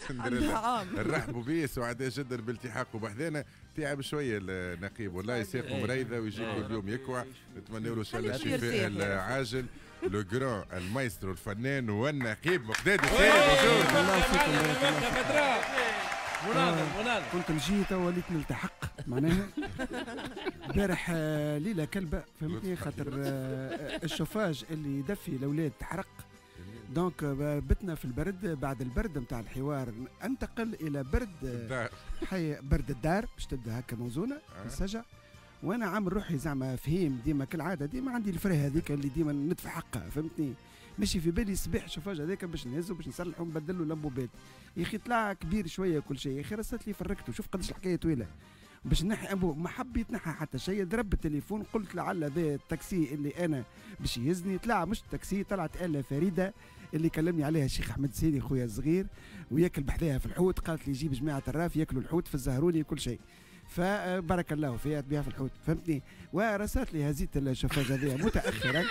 سندريلا. نرحبوا به، سعداء جدا بالتحاقه بحذانا. تعب شوية النقيب والله، ساقه مريضه ويجي كل يوم يكوع. نتمنى له ان شاء الله الشفاء العاجل. le grand المايسترو الفنان والنقيب مقداد السيد. بارك الله فيكم، بارك الله فيكم. مناظر مناظر. كنت نجي تو وليت نلتحق معناها. البارح ليلة كلبه، فهمتني، خاطر الشوفاج اللي يدفي الاولاد تحرق، donc بتنا في البرد. بعد البرد نتاع الحوار انتقل الى برد الدار. حي برد الدار باش تبدا هكا موزونة السجع. وانا عامل روحي زعما فهيم ديما كالعاده، ديما عندي ال frein هذيك اللي ديما ندفع حقها، فهمتني. ماشي في بالي الصباح شوفاج هذاك باش نهزو باش نصلحو ونبدلو لمبوبات، يا اخي طلع كبير شوية كل شيء. يا اخي رصت لي فركته، شوف قداش الحكاية طويلة باش نحي انبوب، ما حب يتنحى حتى شيء. ضرب التليفون قلت لعل ذا التاكسي اللي انا باش يهزني، طلع مش التاكسي، طلعت آلة فريدة اللي كلمني عليها الشيخ احمد سيدي خويا الصغير، وياكل بحذاها في الحوت. قالت لي جيب جماعة الراف ياكلوا الحوت في الزهروني وكل شيء، فبارك الله فيها تبيع في الحوت، فهمتني. ورسات لي هزيت الشوفاج هذيا متاخرا،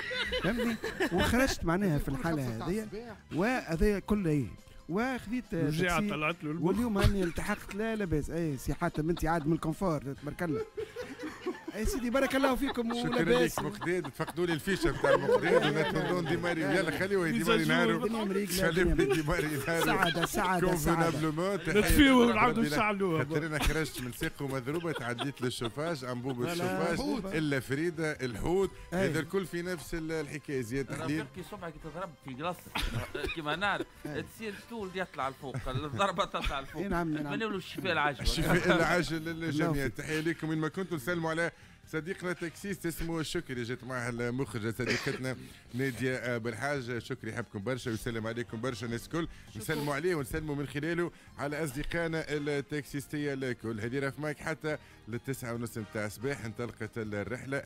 فهمتني، وخرجت معناها في الحالة هذيا وهذا كله ايه، وخذيت رجعت طلعت له. واليوم هاني التحقت. لا لاباس. اي سي حاتم انت عاد من ال confort تبارك الله. اي سيدي بارك الله فيكم. ولاباس. شكرا لك مقداد. تفقدوا لي ال fiche نتاع مقداد ونتمنوا démarrer. يلا خليه يديماري نهارو، خليه يديماري نهارو. سعادة سعادة سعادة. نطفيوه ونعاودوا نشعلوه. خاطر انا خرجت من ساق مضروبة، تعديت للشوفاج، انبوب الشوفاج الا فريدة الحوت، هذا الكل في نفس الحكاية. زياد تحليل كي صبعك تضرب في glace كيما نعرف تصير طول يطلع الفوق، الضربة تطلع الفوق. نعم نتمنى له الشفاء العاجل. الشفاء العاجل للجميع. تحية لكم وين ما كنتم. نسلموا على صديقنا taxiste اسمه شكري، جات معاه المخرجة صديقتنا نادية بالحاج. شكري يحبكم برشا ويسلم عليكم برشا الناس الكل. نسلموا عليه ونسلموا من خلاله على أصدقائنا التاكسيستية الكل. هذه رف مايك حتى لل9:30 نتاع الصباح انطلقت الرحلة.